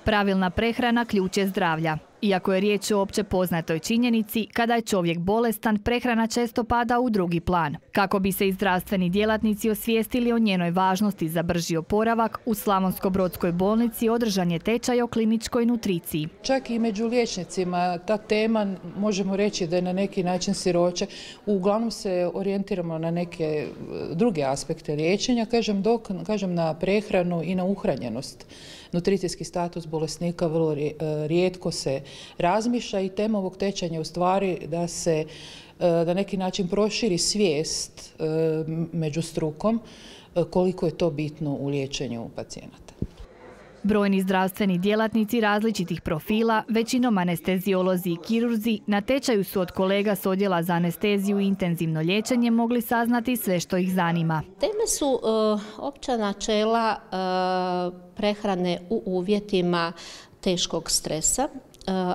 Pravilna prehrana ključ je zdravlja. Iako je riječ o opće poznatoj činjenici, kada je čovjek bolestan, prehrana često pada u drugi plan. Kako bi se i zdravstveni djelatnici osvijestili o njenoj važnosti za brži oporavak, u Slavonsko-brodskoj bolnici održan je tečaj o kliničkoj nutriciji. Čak i među liječnicima ta tema, možemo reći da je na neki način siroče. Uglavnom se orijentiramo na neke druge aspekte liječenja, kažem na prehranu i na uhranjenost. Nutricijski status bolesnika vrlo rijetko se razmišlja i tema ovog tečaja je u stvari da se na neki način proširi svijest među strukom koliko je to bitno u liječenju pacijenata. Brojni zdravstveni djelatnici različitih profila, većinom anesteziolozi i kirurzi, na tečaju su od kolega s odjela za anesteziju i intenzivno liječenje mogli saznati sve što ih zanima. Teme su opća načela prehrane u uvjetima teškog stresa,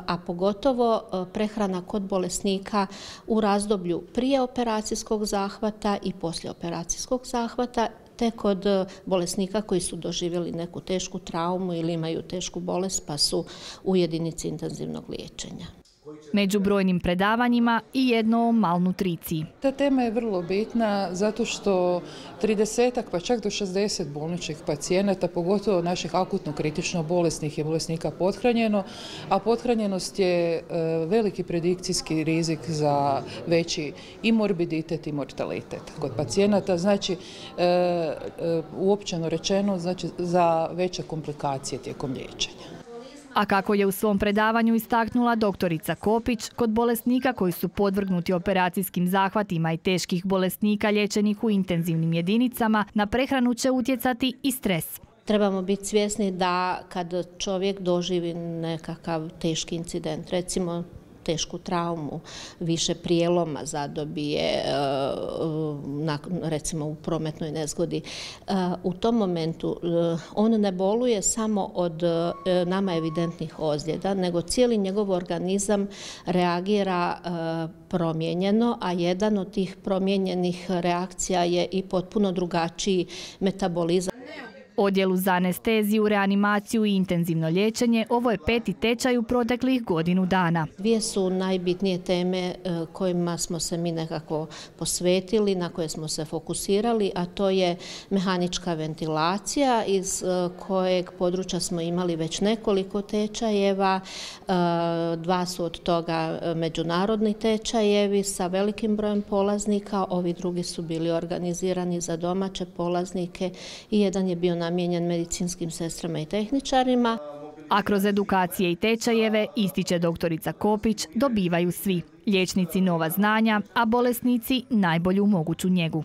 a pogotovo prehrana kod bolesnika u razdoblju prije operacijskog zahvata i poslije operacijskog zahvata, te kod bolesnika koji su doživjeli neku tešku traumu ili imaju tešku bolest pa su u jedinici intenzivnog liječenja. Među brojnim predavanjima i jedno o malnutriciji. Ta tema je vrlo bitna zato što 30 pa čak do 60 bolničkih pacijenata, pogotovo naših akutno kritično bolesnih, je bolesnika pothranjeno, a pothranjenost je veliki predikcijski rizik za veći i morbiditet i mortalitet kod pacijenata, znači uopćeno rečeno znači za veće komplikacije tijekom liječenja. A kako je u svom predavanju istaknula doktorica Kopić, kod bolesnika koji su podvrgnuti operacijskim zahvatima i teških bolesnika liječenih u intenzivnim jedinicama, na prehranu će utjecati i stres. Trebamo biti svjesni da kad čovjek doživi nekakav teški incident, recimo tešku traumu, više prijeloma zadobije, recimo u prometnoj nezgodi. U tom momentu on ne boluje samo od nama evidentnih ozljeda, nego cijeli njegov organizam reagira promijenjeno, a jedan od tih promijenjenih reakcija je i potpuno drugačiji metabolizam. Odjelu za anesteziju, reanimaciju i intenzivno liječenje ovo je 5. tečaj u proteklih godinu dana. Dvije su najbitnije teme kojima smo se mi nekako posvetili, na koje smo se fokusirali, a to je mehanička ventilacija iz kojeg područja smo imali već nekoliko tečajeva. 2 su od toga međunarodni tečajevi sa velikim brojem polaznika, ovi drugi su bili organizirani za domaće polaznike i jedan je bio namijenjen medicinskim sestrama i tehničarima. A kroz edukacije i tečajeve, ističe doktorica Kopić, dobivaju svi. Liječnici nova znanja, a bolesnici najbolju moguću njegu.